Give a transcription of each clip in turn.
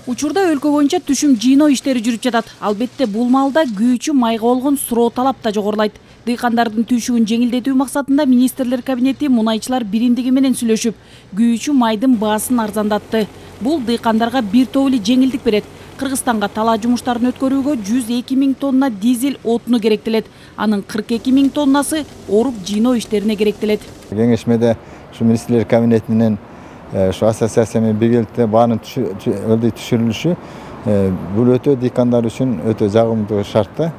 Учурда өлкө боюнча түшүм жыйноо иштери жүрүп жатат. Албетте бул маалда күйүүчү майга болгон суроо талап да жогорулайт. Дыйкандардын түйшүгүн жеңилдетүү максатында министрлер кабинети мунайчылар биримдиги менен сүйлөшүп, күйүүчү майдын баасын арзандатты. Бул дыйкандарга бир топ эле жеңилдик берет. Кыргызстанга талаа жумуштарын өткөрүүгө 102 000 тонна дизель отуну керектелет. Анын 42 000 тоннасы оруп жыйноо иштерине керектелет. Кеңешмеде ушу министрлер кабинетинен şu asosiasiya менен биргеликте баанын түшүрүлүшү бул өтө дыйкандар үчүн өтө жагымдуу шарт да.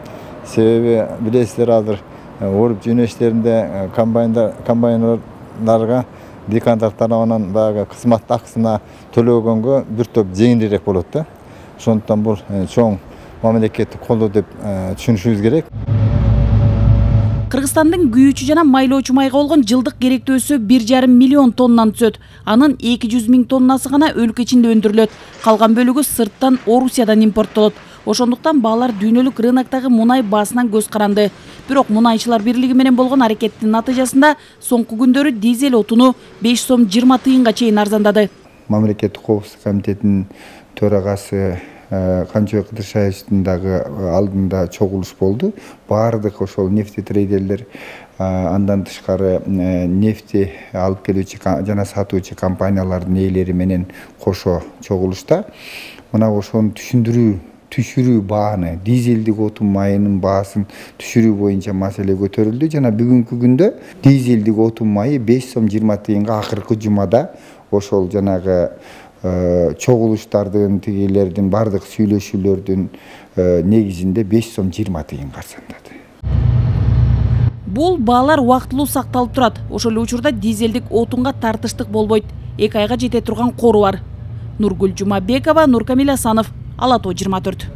Себеби билесиздер азыр оруп жыйноо иштеринде комбайнерларга дыйкандар тарабынан баягы кызмат акысына төлөгөнгө бир топ жеңилирээк болот да. Ошондуктан бул чоң мамлекеттик колдоо деп түшүнүшүбүз керек. Кыргызстандын күйүүчү жана майлоочу майга болгон жылдык керектөөсү 1,5 миллион тоннаны түзөт. Анын 200 000 тоннасы гана өлкө ичинде өндүрүлөт. Калган бөлүгү сырттан Орусиядан импорттолот. Ошондуктан баалар дүйнөлүк рыноктогу мунай баасынан көз каранды. Бирок мунайчылар бирлиги менен болгон аракеттин натыйжасында соңку күндөрү дизель отуну 5 сом 20 тыйынга чейин арзандады. Мамлекеттик коопсуздук комитетинин төрагасы Камчыбек Кыдыршаевдин дагы алдында чогулуш болду. Баардык ошол нефтетрейдерлер, андан тышкары нефти алып келүүчү жана сатуучу компаниялардын ээлери менен кошо чогулушта мына ошону түшүрүү бааны, дизелдик отун майынын баасын түшүрүү боюнча маселе көтөрүлдү. Жана бүгүнкү күндө дизелдик отун майы 5 сом 20 тыйынга акыркы жумада ошол жанагы чогулуштардын тигилердин бардык сүйлөшүүлөрдүн негизинде 5 сом 20 тыйынга арзандады. Бул баалар убактылуу сакталып турат. Ошол эле учурда дизелдик отунга тартыштык болбойт. 2 айга жете турган кору бар. Нургүл Жумабекова, Нуркамил Асанов, Ала Тоо 24.